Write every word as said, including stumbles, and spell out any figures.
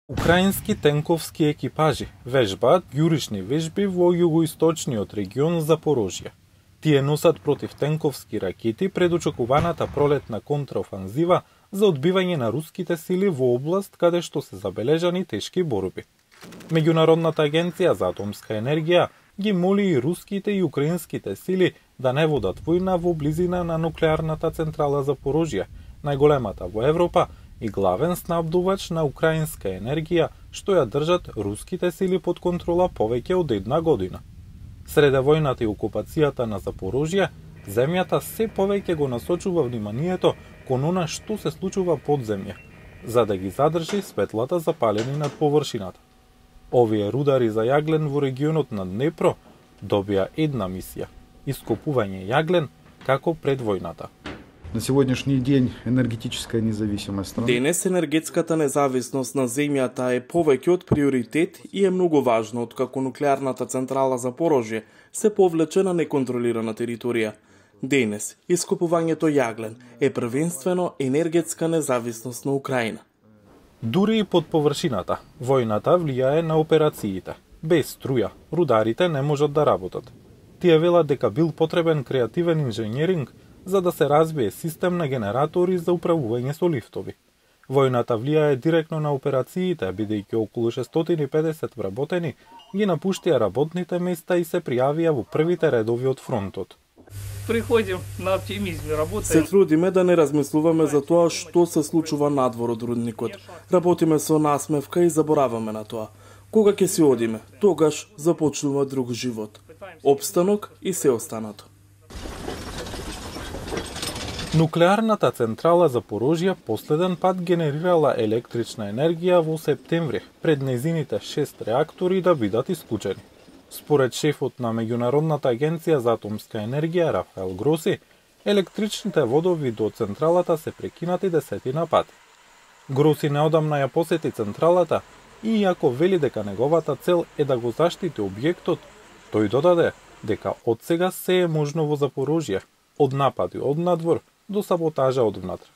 Украински тенковски екипажи вежбаат јурични вежби во југоисточниот регион Запорожје. Тие носат противтенковски ракети пред очекуваната пролетна контраофанзива за одбивање на руските сили во област каде што се забележани тешки борби. Меѓународната агенција за атомска енергија ги моли и руските и украинските сили да не водат војна во близина на нуклеарната централа Запорожје, најголемата во Европа и главен снабдувач на украинска енергија, што ја држат руските сили под контрола повеќе од една година. Среде војната и окупацијата на Запорожје, земјата се повеќе го насочува вниманието кон она што се случува под земја, за да ги задржи светлата запалени над површината. Овие рудари за јаглен во регионот на Днепро добија една мисија – ископување јаглен како пред војната. На сегодняшний ден енергетическая независимост страны. Денес енергетската независност на земјата е повеќе од приоритет и е многу важно откако нуклеарната централа Запорожје се повлече на неконтролирана територија. Денес ископувањето јаглен е првенствено енергетска независност на Украина. Дури и под површината, војната влијае на операциите. Без струја, рударите не можат да работат. Тие велат дека бил потребен креативен инженеринг за да се развие систем на генератори за управување со лифтови. Војната влијае директно на операциите, бидејќи околу шестстотини и педесет вработени ги напуштија работните места и се пријавија во првите редови од фронтот. Приходим на оптимизме, работиме. Се трудиме да не размислуваме за тоа што се случува надвор од рудникот. Работиме со насмевка и забораваме на тоа. Кога ќе си одиме, тогаш започнува друг живот. Обстанок и се останато. Нуклеарната централа Запорожје последен пат генерирала електрична енергија во септември, пред незините шест реактори да бидат исклучени. Според шефот на Меѓународната агенција за атомска енергија Рафаел Гроси, електричните водови до централата се прекинати десетина пати. Гроси неодамна ја посети централата и иако вели дека неговата цел е да го заштити објектот, тој додаде дека од сега се е можно во Запорожје, од напади од надвор до саботажа од внатре.